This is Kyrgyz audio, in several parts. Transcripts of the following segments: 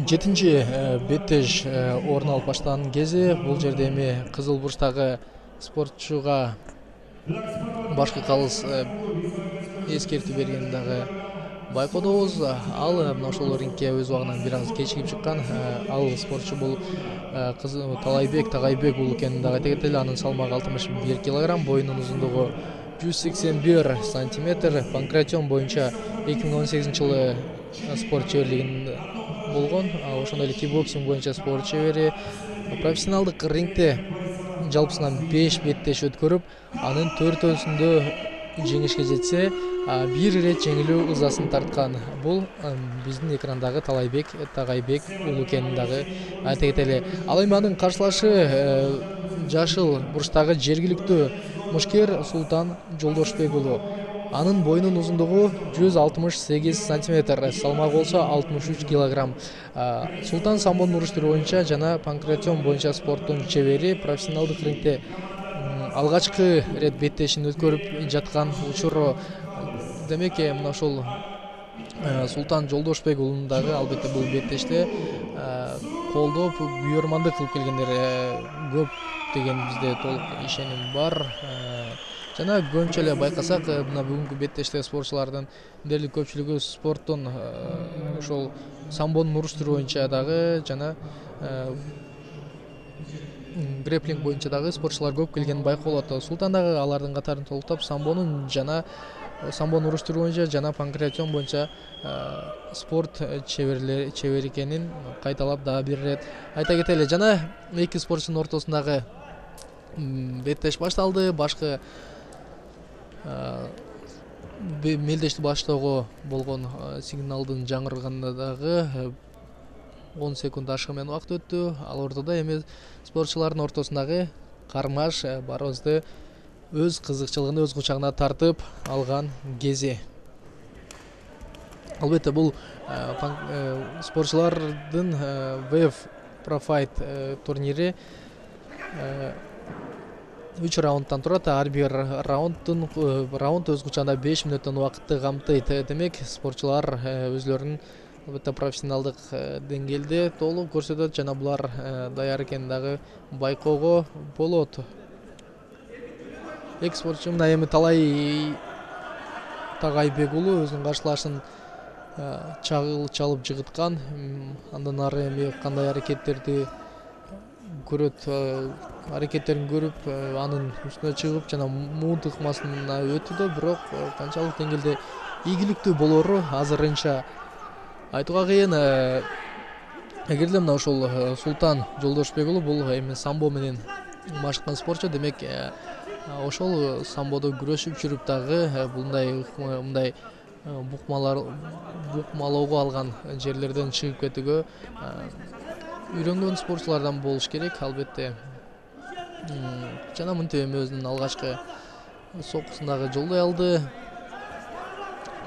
7-ci беттеш орун алып баштаган кези бул жерде эми кызыл бурчтагы спортчуга башкы калыс эскертүү бергенин дагы байкоодобуз. Ал мына ошол рингке өз убагынан бир аз кечигип чыккан. Ал спортчу бул Талайбек Тагайбек уулу экенин дагы айта кетели. Анын салмагы 61 кг, боюнун узундугу 181 сантиметр. Панкратион боюнча 2018-жылы спорт чеберлигин болгон. Ошондой эле кикбоксинг боюнча спорт чебери. Профессионалдык рингте жалпысынан 5 беттеш өткөрүп, анын 4-өсүндө жеңишке жетсе, бир ирет жеңилүү ызасын тарткан. Бул биздин экрандагы Талайбек Тагайбек уулу экенин дагы айта кетели. Ал эми анын каршылашы жашыл бурчтагы жергиликтүү мушкер Султан Жолдошбек уулу. Анын боюнун узундугу 168 сантиметр, салмагы болсо 63 кг. Султан самбону уруштуруу боюнча жана панкратион боюнча спорттун чебери. Профессионалдык рингте алгачкы рет беттешин өткөрүп жаткан учуру. Демек, мына ошол Султан Жолдошбек уулун дагы албетте бул беттеште колдоп, буйрмандык кылып келгендер көп деген бизде толук ишеним бар. Жана көбүнчө эле байкасак, мына бүгүнкү беттеште спортчулардын дээрлик көпчүлүгү спорттун ошол самбонун уруштуруу боюнча дагы жана греплинг боюнча дагы спортчулар көп келгени байкалат. Султан дагы алардын катарын толуктап, самбонун уруштуруу боюнча жана панкратион боюнча спорт чебери экенин кайталап дагы бир ирет айта кетели. Жана эки спортчунун ортосундагы беттеш башталды. Башкы мелдешти баштоого болгон сигналдын жаңырганда дагы 10 секунд ашыгы менен убакыт өттү. Ал ортодо эми спортчулардын ортосундагы кармаш барыбызды өз кызыкчылыгын өз кучагына тартып алган кези. Албетте бул спортчулардын WEF Pro Fight турнири 3 раундтан турат. Ар бир раунд өз кучагында 5 мүнөттөн убакытты камтыйт. Демек, спортчулар өзлөрүнүн албетте профессионалдык деңгээлде толук көрсөтөт жана булар даяр экенин дагы байкоого болот. Эки спортчу мына эми Талай Тагайбек уулу өзүнүн каршылашын чалып жыгыткан. Андан ары эми кандай аракеттерин көрүп, анын үстүнө чыгып жана муун тыкмасына өтүүдө, бирок канчалык деңгээлде ийгиликтүү болору азырынча айтууга кыйын. Эгерде мына ошол Султан Жолдошбек уулу бул эми самбо менен машыккан спортчу, демек ошол самбодо күрөшүп жүрүп дагы мындай букмалоого алган жерлерден чыгып кетүүгө үйрөнгөн спортчулардан болуш керек, албетте. Жана мынтип эми өзүнүн алгачкы соккусун дагы жолдой алды.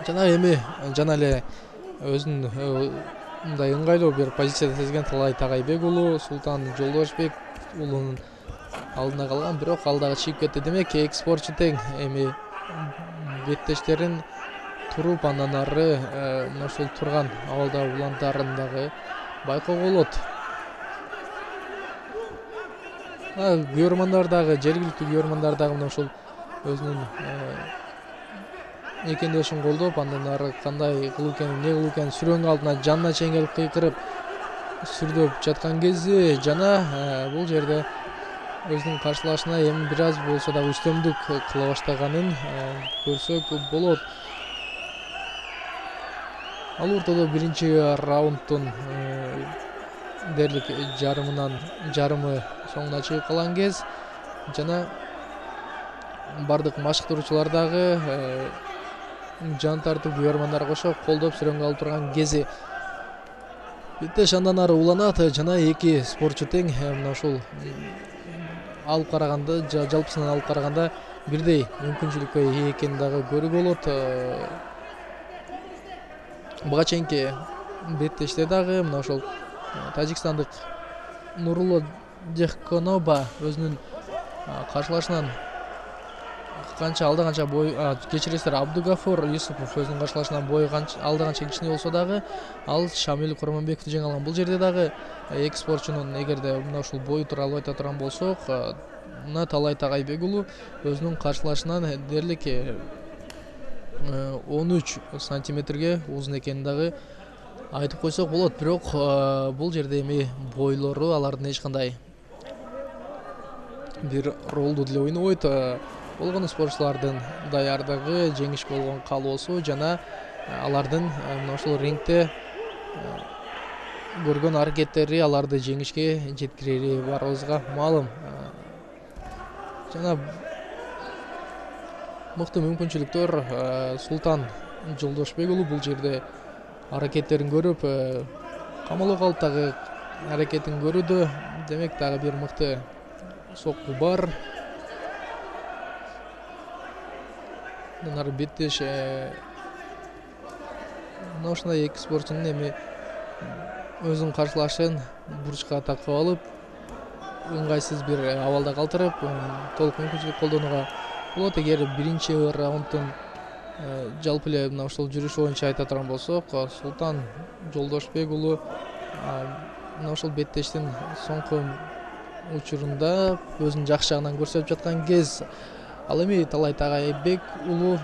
Жана эле өзүнүн мындай ыңгайлуу бир позицияда сезген Талай Тагайбек уулу Султан Жолдошбек уулунун алдына калган, бирок ал дагы чыгып кетти. Демек, эки спортчу тең. Эми беттештерин туруп, андан ары мына ушул турган абалда улантаарын дагы байкоого болот. Күйөрмандар дагы, жергиликтүү күйөрмандар дагы мына ушул өзүнүн экендешин колдоп, андан ары кандай кылуу экенин, эмне кылуу экенин сүрөңүн алдына жанына чейин келип кыйкырып сүрдөп жаткан кези. Жана бул жерде өзүнүн каршылашына эми бир аз болсо дагы үстөмдүк кыла баштаганын көрсөк болот. Ал ортодо биринчи раундтун дээрлик жарымы соңуна чыгып калган кез. Жана бардык машыктыруучулар дагы жан тартып, күйөрмандар кошо колдоп сүрөңгө алып турган кези. Беттеш андан ары уланат жана эки спортчу тең. Мына ушул алып караганда, жалпысынан алып караганда бирдей мүмкүнчүлүккө ээ экенин дагы көрүүгө болот. Буга чейинки беттеште дагы мына ошол тажикстандык Нурулло Дехконоба өзүнүн каршылашынан канча алда канча бой кечиресиздер, Абдугафур Юсупов өзүнүн каршылашынан бою алда канча кичине болсо дагы ал Шамил Курманбековду жеңе алган. Бул жерде дагы эки спортчунун эгерде мына ушул бою тууралуу айта турган болсок, мына Талай Тагайбек уулу өзүнүн каршылашынан дээрлик 13 сантиметрге узун экенин дагы айтып койсок болот. Бирок бул жерде эми бойлору алардын эч кандай бир ролду деле ойнобойт. Болгону спортчулардын даярдыгы, жеңишке болгон каалоосу жана алардын мына ушул рингде көргөн аракеттери аларды жеңишке жеткирери баарыбызга маалым. Жана мыкты мүмкүнчүлүктөр Султан Жолдошбек уулу бул жерде аракеттерин көрүп, камалып калып дагы аракетин көрүүдө. Демек дагы бир мыкты сокку бар. Мына беттеш мына ушундай эки спортчунун эми өзүнүн каршылашын бурчка такып алып, ыңгайсыз бир абалда калтырып, толук мүмкүнчүлүк колдонууга болот. Эгер биринчи раунддун жалпы эле мына ушул жүрүшү боюнча айта турган болсок, Султан Жолдошбек уулу мына ушул беттештин соңку учурунда өзүнүн жакшы жагынан көрсөтүп жаткан кез. Ал эми Талай Тагайбек уулу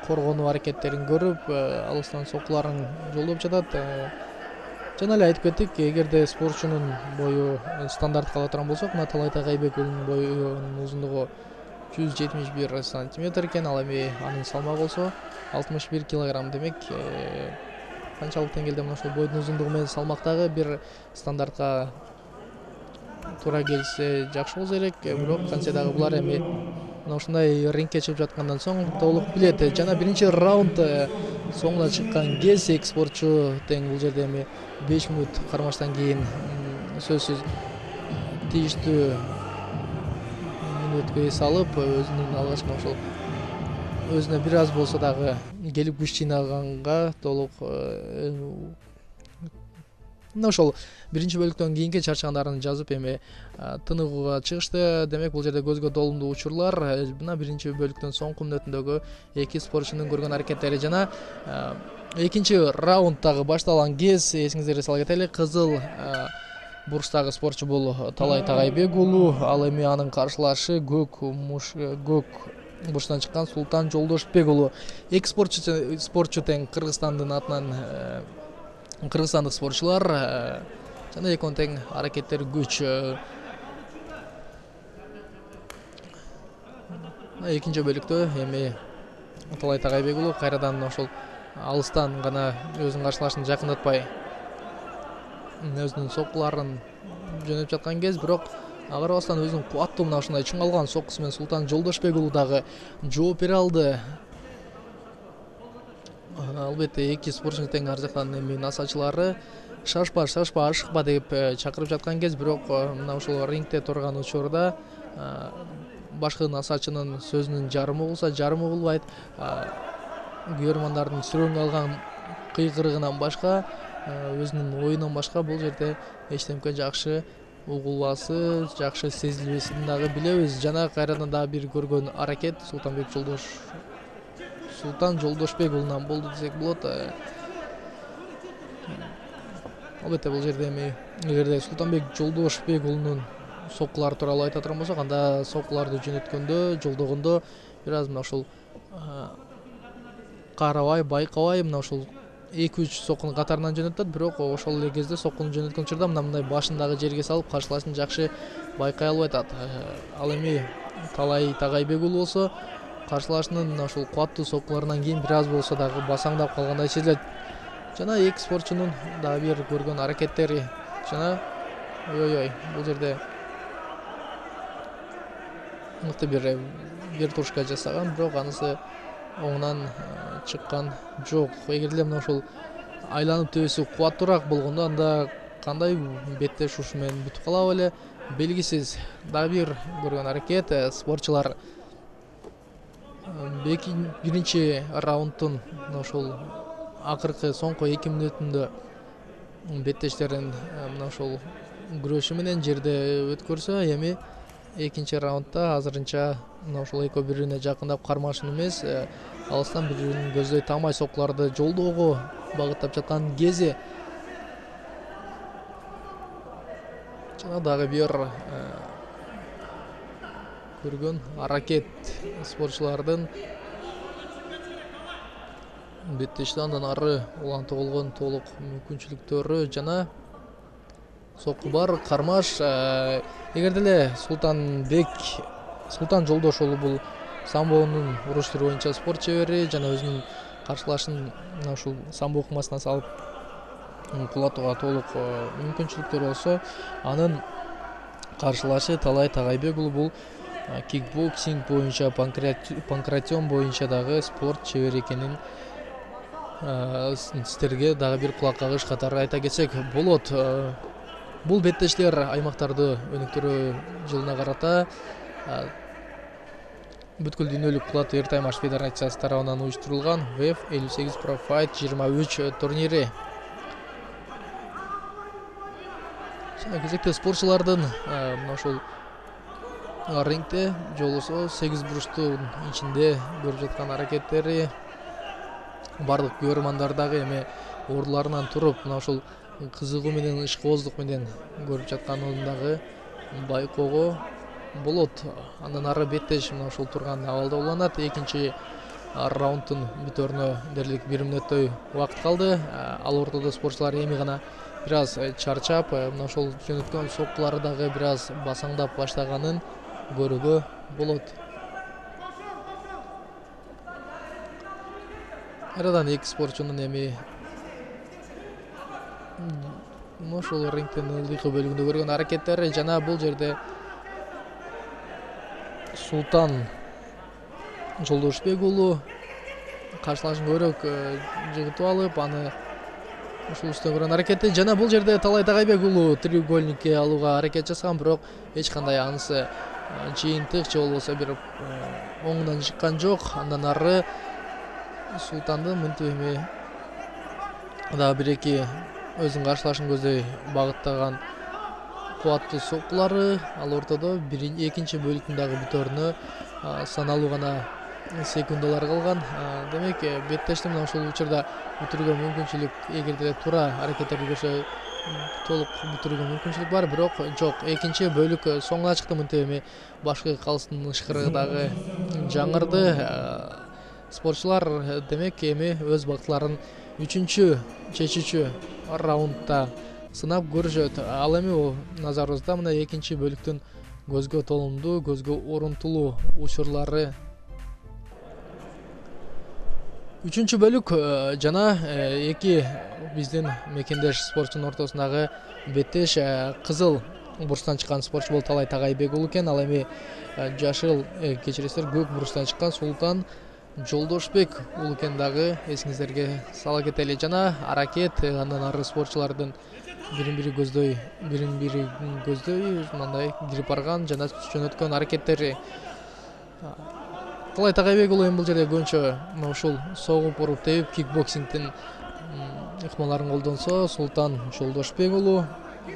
коргонуу аракеттерин көрүп, алыстан соккуларын жолдоп жатат. Жана эле айтып кеттик, эгерде спортчунун бою стандарт кала турган болсок, мына Талай Тагайбек уулунун боюнун узундугу 171 сантиметр экен, ал эми анын салмагы болсо 61 килограмм. Демек канчалык деңгээлде мына ушул бойдун узундугу менен салмактагы бир стандартка туура келсе жакшы болсо керек. Бирок кантсе дагы булар эми мына ушундай рингке чыгып жаткандан соң толук билет. Жана биринчи раунд соңуна чыккан кез эки спортчу тең. Бул жерде эми 5 мүнөт кармаштан кийин сөзсүз тийиштүү мүнөткө эс алып, өзүнүн алгачкы ошол өзүнө бир аз болсо дагы келип күч жыйнаганга толук мына ошол биринчи бөлүктөн кийинки чарчагандарын жазып эми тыныгууга чыгышты. Демек бул жерде көзгө толумдуу учурлар мына биринчи бөлүктүн соңку мүнөтүндөгү эки спортчунун көргөн аракеттери. Жана экинчи раунд дагы башталган кез эсиңиздерге сала кетели. Кызыл бурчтагы спортчу бул Талай Тагайбек уулу. Ал эми анын каршылашы көк бурчтан чыккан Султан Жолдошбек уулу. Эки спортчу тең Кыргызстандын атынан кыргызстандык спортчулар жана экөөнүн тең аракеттери күч. Экинчи бөлүктө эми Талай Тагайбек уулу кайрадан ошол алыстан гана өзүнүн каршылашын жакындатпай өзүнүн соккуларын жөнөтүп жаткан кез. Бирок агарбастан өзүнүн кубаттуу мына ушундай чыңалган соккусу менен Султан Жолдошбек уулу дагы жооп бере алды. Албетте эки спортчунун тең ар жактан эми насачылары шашпа ашыкпа деп чакырып жаткан кез. Бирок мына ушул рингде турган учурда башкы насачынын сөзүнүн жарымы болсо жарымы болбойт. Көрөрмандардын сүрөңгө алган кыйкырыгынан башка, өзүнүн оюнан башка бул жерде эчтемке жакшы угулбасы, жакшы сезилбесин дагы билебиз. Жана кайрадан дагы бир көргөн аракет Султан Жолдошбек уулунан болду десек болот. Албетте бул жерде эми эгерде Султанбек Жолдошбек уулунун соккулары тууралуу айта турган болсок, анда соккуларды жөнөткөндө, жолдогондо бир аз мына ушул карабай, байкабай мына ушул 2-3 соккуну катарынан жөнөтөт. Бирок ошол эле кезде соккуну жөнөткөн учурда мындай башындагы жерге салып каршылашын жакшы байкай албай атат. Ал эми Талай Тагайбек уулу болсо каршылашынын мына ушул кубаттуу соккуларынан кийин бир аз болсо дагы басаңдап калгандай сезилет. Жана эки спортчунун дагы бир көргөн аракеттери. Жана бул жерде мыкты бир вертушка жасаган, бирок анысы оңунан чыккан жок. Эгер эле мына ушул айланып төбөсү кубаттуураак болгондо анда кандай беттеш ушу менен бүтүп калабы эле белгисиз. Дагы бир көргөн аракет. Спортчулар биринчи раунддун мына ушул акыркы соңку 2 мүнөтүндө беттештерин мына ушул күрөшү менен жерде өткөрсө, эми экинчи раундда азырынча мына ушул экөө бири-бирине жакындап кармашын эмес, алыстан бири-бирин көздөй тамай соккуларды жолдоого багыттап жаткан кези. Жана дагы бир көргөн аракет спортчулардын беттешти, андан ары улантып болгон толук мүмкүнчүлүктөрү жана сокку бар. Кармаш эгер деле Султан Жолдошулу бул самбонун уруш түрү боюнча спорт чебери жана өзүнүн каршылашын ушул самбо ыкмасына салып кулатууга толук мүмкүнчүлүктөр болсо, анын каршылашы Талай Тагайбек уулу бул кикбоксинг боюнча, панкратион боюнча дагы спорт чебери экенин сиздерге дагы бир кулак кагыш катары айта кетсек болот. Бул беттештер аймактарды өнүктүрүү жылына карата бүткүл дүйнөлүк кулат эртаймаш федерациясы тарабынан уюштурулган WEF 58 Pro Fight 23 турнири. Кезекте спортчулардын мына ушул рингде жолусу 8 бурчтун ичинде көрүп жаткан аракеттери бардык көрөрмандар дагы эми ордуларынан туруп мына ушул кызыгуу менен ишкыбоздук менен көрүп жатканын дагы байкоого болот. Андан ары беттеш мына ушул турган абалда уланат. Экинчи раунддун бүтөрүнө дерлик 1 мүнөттөй убакыт калды. Ал ортодо спортчулар эми гана бир аз чарчап, мына ушул жөнөткөн соккулары дагы бир аз басаңдап баштаганын көрүүгө болот. Кайрадан эки спортчунун эми мына ушул рингдин ылдыйкы бөлүгүндө көргөн аракеттери жана бул жерде Султан Жолдошбек уулу каршылашын көбүрөөк жыгытып алып, аны ушул үстөн көргөн аракети жана бул жерде Талай Тагайбек уулу треугольникке алууга аракет жасаган, бирок эч кандай анысы жыйынтык же болбосо бир оңунан чыккан жок. Андан ары Султандын мынтип эми дагы бир-эки өзүнүн каршылашын көздөй багыттаган кубаттуу соккулары. Ал ортодо экинчи бөлүктүн дагы бүтөрүнө саналуу гана секундалар калган. Демек беттешти мына ушул учурда бүтүрүүгө мүмкүнчүлүк, эгер деле туура аракеттерди көрсө толук бүтүрүүгө мүмкүнчүлүк бар, бирок жок. Экинчи бөлүк соңуна чыкты. Мынтип эми башкы калыстын ышкырыгы дагы жаңырды. Спортчулар демек эми өз бактыларын үчүнчү чечүүчү раундда сынап көрүшөт. Ал эми назарыбызда мына экинчи бөлүктүн көзгө толумдуу, көзгө орунтулуу учурлары. Үчүнчү бөлүк жана эки биздин мекендеш спортчунун ортосундагы беттеш кызыл бурчтан чыккан спортчу бул Талай Тагайбек уулу экен. Ал эми жашыл кечиресиздер көк бурчтан чыккан Султан Жолдошбек уулу экен дагы эсиңиздерге сала кетели. Жана аракет андан ары спортчулардын бирин-бири көздөй мындай кирип барган жана жөнөткөн аракеттери. Талай Тагайбек уулу эми бул жерде көбүнчө мына ушул согуп уруп теуп кикбоксингдин ыкмаларын колдонсо, Султан Жолдошбек уулу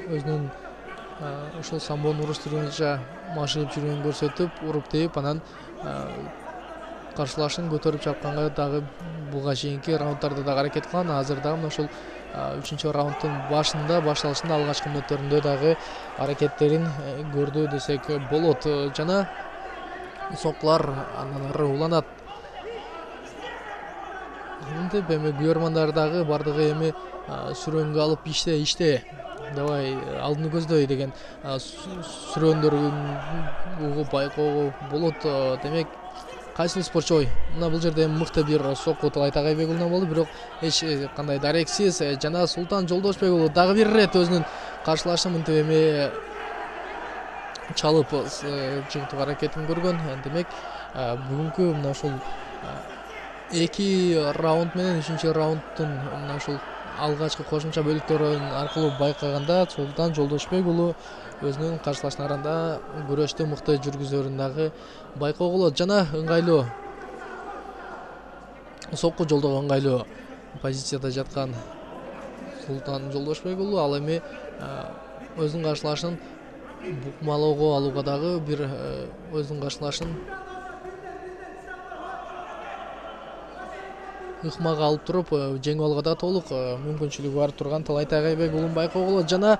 өзүнүн ушул самбонун уруш түрү боюнча машыгып жүргөнүн көрсөтүп, уруп теуп анан каршылашын көтөрүп чапканга дагы буга чейинки раунддарда дагы аракет кылган. Азыр дагы мына ушул үчүнчү раунддун башталышында алгачкы мүнөттөрүндө дагы аракеттерин көрдү десек болот. Жана соккулар андан ары уланат. Мынтип эми көрөрмандар дагы бардыгы эми сүрөнгө алып иште давай алдыны көздөй деген сүрөндөрүн угуп байкоого болот. Демек кайсыл спортчу мына бул жерде мыкты бир сокку Талай Тагайбек уулунан болду, бирок эч кандай дарексиз. Жана Султан Жолдошбек уулу дагы бир ирет өзүнүн каршылашын мынтип эми чалып жыгытуу аракетин көргөн. Демек бүгүнкү мына ушул эки раунд менен үчүнчү раунддун мына ушул алгачкы кошумча бөлүктөрүн аркылуу байкаганда Султан Жолдошбек уулу өзүнүн каршылашчыларында күрөштү мыкты жүргүзөрүн дагы байкоого болот. Жана ыңгайлуу сокку жолдого ыңгайлуу позицияда жаткан Султан Жолдошбек уулу ал эми өзүнүн каршылашын букмалоого алууга дагы бир өзүнүн каршылашын ыкмага алып туруп жеңип алууга да толук мүмкүнчүлүгү бар турган Талайтай Кайбек уулун байкоого болот. Жана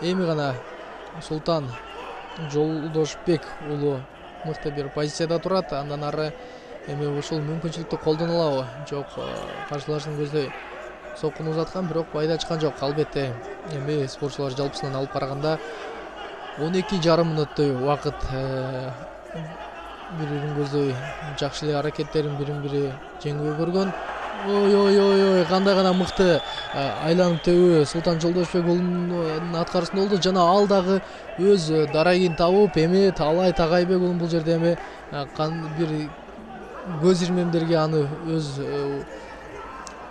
эми гана Султан Жолдошбек уулу мыкты бир позицияда турат. Андан ары эми ушул мүмкүнчүлүктү колдоно алабы? Жок, каршылашын көздөй соккуну узаткан, бирок пайда чыккан жок. Албетте эми спортчулар жалпысынан алып караганда 12,5 мүнөттөй убакыт бири-бирин көздөй жакшы эле аракеттерин бири-бири жеңүүгө көргөн. Ой, кандай гана мыкты айланып тебүү Султан Жолдошбек уулунун аткаруусунда болду. Жана ал дагы өз дарагин табып, эми Талайтай Кайбек уулун бул жерде эми бир көз ирмемдерге аны өз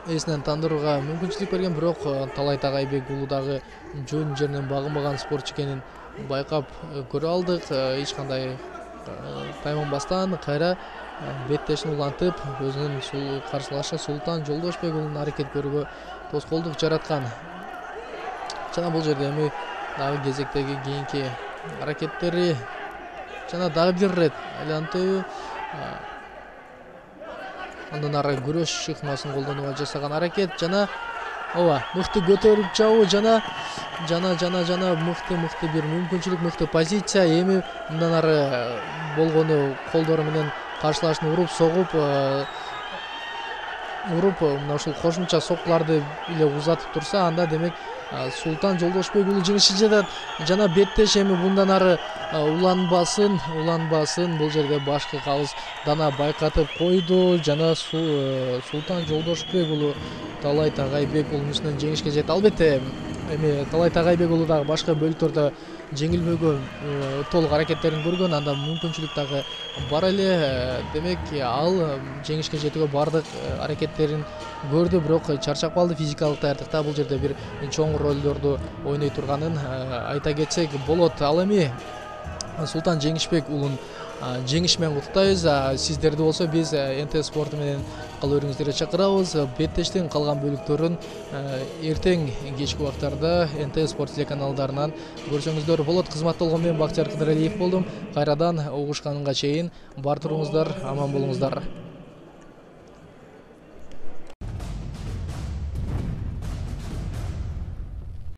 эсинен тандырууга мүмкүнчүлүк берген. Бирок Талайтай Кайбек уулу дагы жөн жеринен багынбаган спортчу экенин байкап көрө алдык. Эч кандай тайманбастан кайра беттешин улантып өзүнүн каршылашы Султан Жолдошбек уулунун аракет көрүүгө тоскоолдук жараткан. Жана бул жерде эми дагы кезектеги кийинки аракеттери жана дагы бир ирет айлантуу, андан ары күрөш ыкмасын колдонууга жасаган аракет жана мыкты көтөрүп жабуу жана мыкты бир мүмкүнчүлүк, мыкты позиция. Эми мындан ары болгону колдору менен каршылашын уруп согуп мына ушул кошумча соккуларды эле узатып турса, анда демек Султан Жолдошбек уулу жеңишке жетет. Жана беттеш эми мындан ары уланбасын. Бул жерде башкы калыс дана байкатып койду. Жана Султан Жолдошбек уулу Талайтай Кайбек уулунун үстүнөн жеңишке жетти. Албетте эми Талайтай Кайбек уулу дагы башка бөлүктөрдө жеңилбөгөн, толук аракеттерин көргөн, анда мүмкүнчүлүк дагы бар эле. Демек ал жеңишке жетүүгө бардык аракеттерин көрдү, бирок чарчап калды. Физикалык даярдыкта бул жерде бир чоң ролдорду ойной турганын айта кетсек болот. Ал эми Султан Жеңишбек уулун жеңиш менен куттуктайбыз. Сиздерди болсо биз НТ спорту менен кала берүүңүздөргө чакырабыз. Беттештин калган бөлүктөрүн эртең кечки убактарда НТ спорт телеканалдарынан көрсөңүздөр болот. Кызматта болгон мен Бактияр Кыдыралиев болдум. Кайрадан угушканга чейин бар туруңуздар, аман болуңуздар.